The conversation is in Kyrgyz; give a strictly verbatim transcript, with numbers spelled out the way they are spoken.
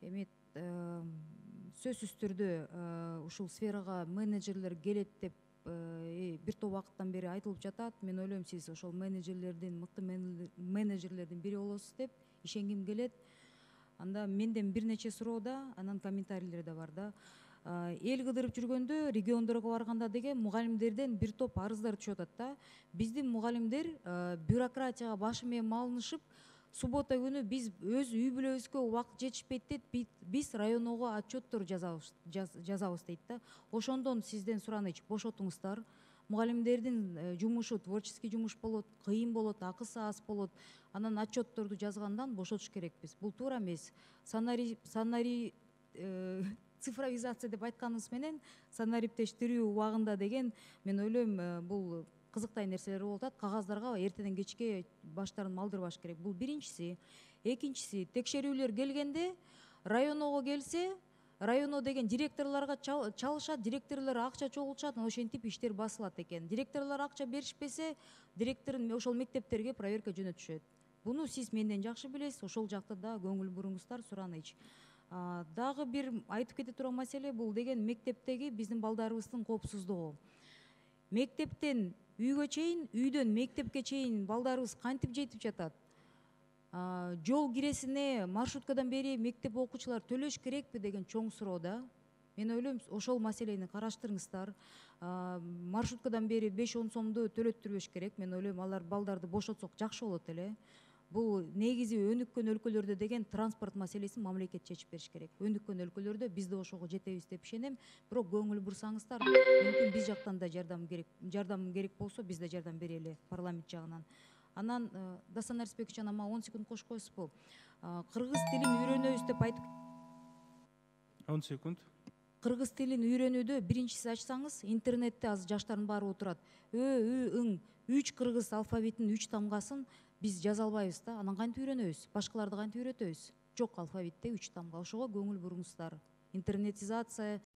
эми сөзсүз түрдө ушул сферага менеджерлер келет деп бир топ убакыттан бери айтылып жатат. Мен ойлойм, сиз ошол менеджерлердин, мыкты менеджерлердин бири болосуз деп ишенгим келет. Анда менден бир нече суроо да, анан комментарийлер да бар да. Эл кыдырып жүргөндө, региондорго барганда деген мугалимдерден бир топ арыздар түшүп атат да. Биздин мугалимдер бюрократияга башы менен малынышып, суббота күнү биз өз үй бүлөбүзгө убакыт жетишпейт дейт, биз районного отчеттор жазабыз жазабыз дейт да. Ошондон сизден суранычы, бошотуңуздар. Мугалимдердин жумушу творческий жумуш болот, кыйын болот, акысы аз болот. Анан отчетторду жазгандан бошотуш керекпиз. Бул туура эмес. Санари санари цифровизация деп айтканыбыз менен санариптештирүү убагында деген, мен ойлойм, бул кызыктай нерселер болуп атат. Кагаздарга эртеден кечке баштарын малдырбаш керек. Бул биринчиси. Экинчиси, текшерүүлөр келгенде районного келсе, районо деген директорлорго чалышат, директорлор акча чогултушат, ошентип иштер басылат экен. Директорлор акча беришпесе, директор ошол мектептерге проверка жөнөтүшөт. Буну сиз менден жакшы билесиз, ошол жакта да көңүл буруңуздар, сураныч. Дагы бир айтып кете турган маселе бул деген мектептеги биздин балдарыбыздын коопсуздугу. Мектептен үйгө чейин, үйдөн мектепке чейин балдарыбыз кантип жетип жатат? Жол киресине маршруткадан бери мектеп окуучулар төлөш керекпи деген чоң суроо да. Мен ойлойм, ошол маселени караштырыңыздар. Маршруткадан бери беш он сомду төлөттүрбөш керек. Мен ойлойм, алар балдарды бошотсок жакшы болот эле. Бул негизи өнүккөн өлкөлөрдө деген транспорт маселесин мамлекет чечип бериш керек. Өнүккөн өлкөлөрдө биз да ошого жетебиз деп ишенем. Бирок көңүл бурсаңыздар, мүмкүн биз жактан да жардам керек. Жардам керек болсо, биз да жардам берели парламент жагынан. Анан Дастан Арсбекович, анан мага он секунд кошуп коесузбу? Кыргыз тилин үйрөнөбүз деп айтып. он секунд. Кыргыз тилин үйрөнүүдө биринчиси ачсаңыз, интернетте азыр жаштардын баары отурат. Ö, ы, ың, үч кыргыз алфавитинин үч тамгасын биз жаза албайбыз да. Анан кантип үйрөнөбүз? Башкаларды кантип үйрөтөбүз? Жок алфавитте үч тамга. Ошого көңүл буруңуздар. Интернетизация